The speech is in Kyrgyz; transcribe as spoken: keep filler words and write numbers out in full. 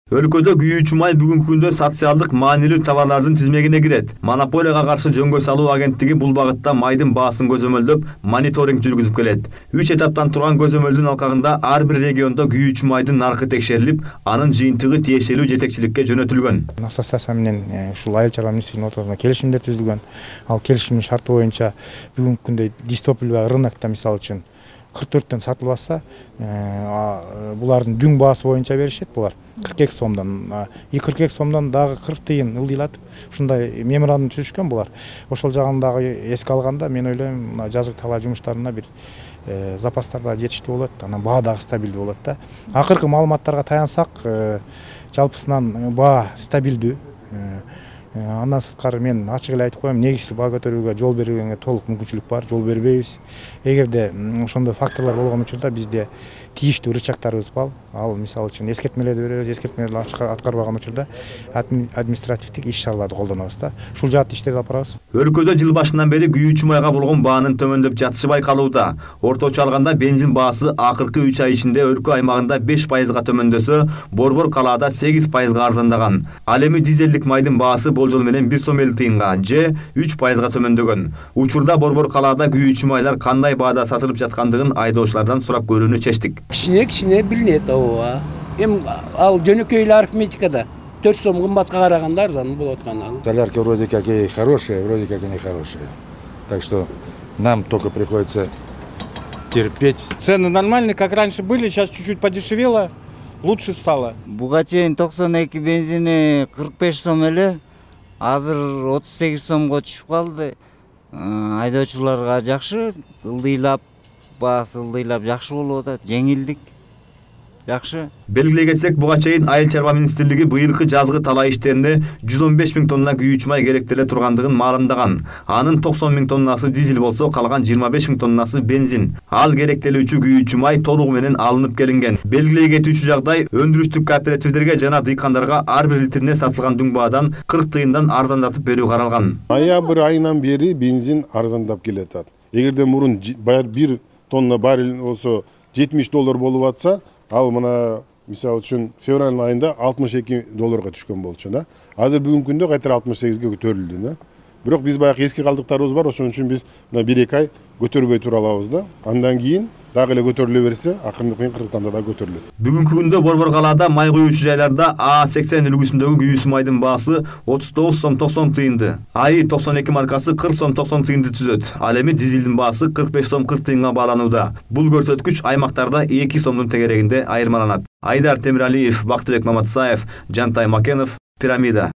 Өлкөдө күйүүчү май бүгүнкү күндө социалдык маанилүү товарлардын тизмегине кирет. Монополияга каршы жөнгө салуу агенттиги бул багытта майдын баасын көзөмөлдөп, мониторинг жүргүзүп келет. үч этаптан турган көзөмөлдүн алкагында ар бир региондо күйүүчү майдын наркы текшерилип, анын жыйынтыгы тиешелүү жетекчиликке жөнөтүлгөн. Ассоциация менен ушул айыл чарба министрлигинин отурумунда келишимдер түзүлгөн. Ал келишимдин шарты боюнча бүгүнкү күндө дистопливый рынокто мисалы үчүн кырк төрттөн сатылбаса, булардын дүң баасы боюнча беришет булар. кырк эки сомдон, кырк эки сомдон дагы кырк тыйын ылдыйлатып, ушундай меморандум түзүшкөн булар. Ошол жагын дагы эске алганда, мен ойлойм, жазык талаа жумуштарына бир запастар да жетиштүү болот, анан баа дагы стабилдүү болот да. Акыркы маалыматтарга таянсак, жалпысынан баа стабилдүү. Андан сырткары мен ачык эле айтып коем, негизсиз баа көтөрүүгө жол берүүгө толук мүмкүнчүлүк бар, жол бербейбиз. Эгерде ошондой факторлор болгон учурда бизде тийиштүү рычагтарыбыз бар. Ал мисалы үчүн эскертмелерди беребиз, эскертмелерди аткарбаган учурда административдик иш-чараларды колдонобуз да. Ушул жаатта иштерди алып барабыз. Өлкөдө жыл башынан бери күйүүчү майга болгон баанын төмөндөп жатышы байкалууда. Орточо алганда бензин баасы акыркы үч ай ичинде өлкө аймагында беш пайызга төмөндөсө, Борбор калаада сегиз пайызга арзандаган. Ал эми дизелдик майдын баасы болжол менен бир сом элүү тыйынга же үч пайызга төмөндөгөн. Учурда Борбор калаада күйүүчү майлар кандай баада сатылып жаткандыгын айдоочулардан сурап көрүүнү чечтик. Кичине кичине билинет ооба. Эми ал жөнөкөй эле арифметикада төрт сом кымбатка караганда арзан болуп аткан ал. Солярки вроде как и хорошие, вроде как и нехорошие. Так что нам только приходится терпеть. Цены нормальные, как раньше были, сейчас чуть-чуть подешевело, лучше стало. Буга чейин токсон эки бензини кырк беш сом эле, азыр отуз сегиз сомго түшүп калды. Айдоочуларга жакшы, ылдыйлап, баасы ылдыйлап жакшы болуп атат, жеңилдик жакшы. Белгилей кетсек, буга чейин Айыл чарба министрлиги быйылкы жазгы талаа иштерине жүз он беш миң тонна күйүүчү май керектеле тургандыгын маалымдаган. Анын токсон миң тоннасы дизель болсо, калган жыйырма беш миң тоннасы бензин. Ал керектелүүчү күйүүчү май толугу менен алынып келинген. Белгилей кетүүчү жагдай, өндүрүштүк кооперативдерге жана дыйкандарга ар бир литрине сатылган дүң баадан кырк тыйындан арзандатып берүү каралган. Ноябрь айынан бери бензин арзандап келатат. Эгерде мурун бир тонна баррель болсо жетимиш доллар болуп атса, ал мына мисалы үчүн февраль айында алтымыш эки долларга түшкөн болчу да. Азыр бүгүнкү күндө кайтара алтымыш сегизге көтөрүлдү да. Бирок биз баягы эски калдыктарыбыз бар, ошон үчүн биз мына бир эки ай көтөрбөй тура алабыз да. Андан кийин дагы эле көтөрүлө берсе, акырындык менен Кыргызстанда да көтөрүлөт. Бүгүнкү күндө Борбор калаада май куюучу жайларда А сексен үлгүсүндөгү күйүүсү майдын баасы отуз тогуз сом токсон тыйынды, А И токсон эки маркасы кырк сом токсон тыйынды түзөт. Ал эми дизелдин баасы кырк беш сом кырк тыйынга бааланууда. Бул көрсөткүч аймактарда эки сомдун тегерегинде айырмаланат. Айдар Темиралиев, Бактыбек Маматсаев, Жантай Макенов, Пирамида.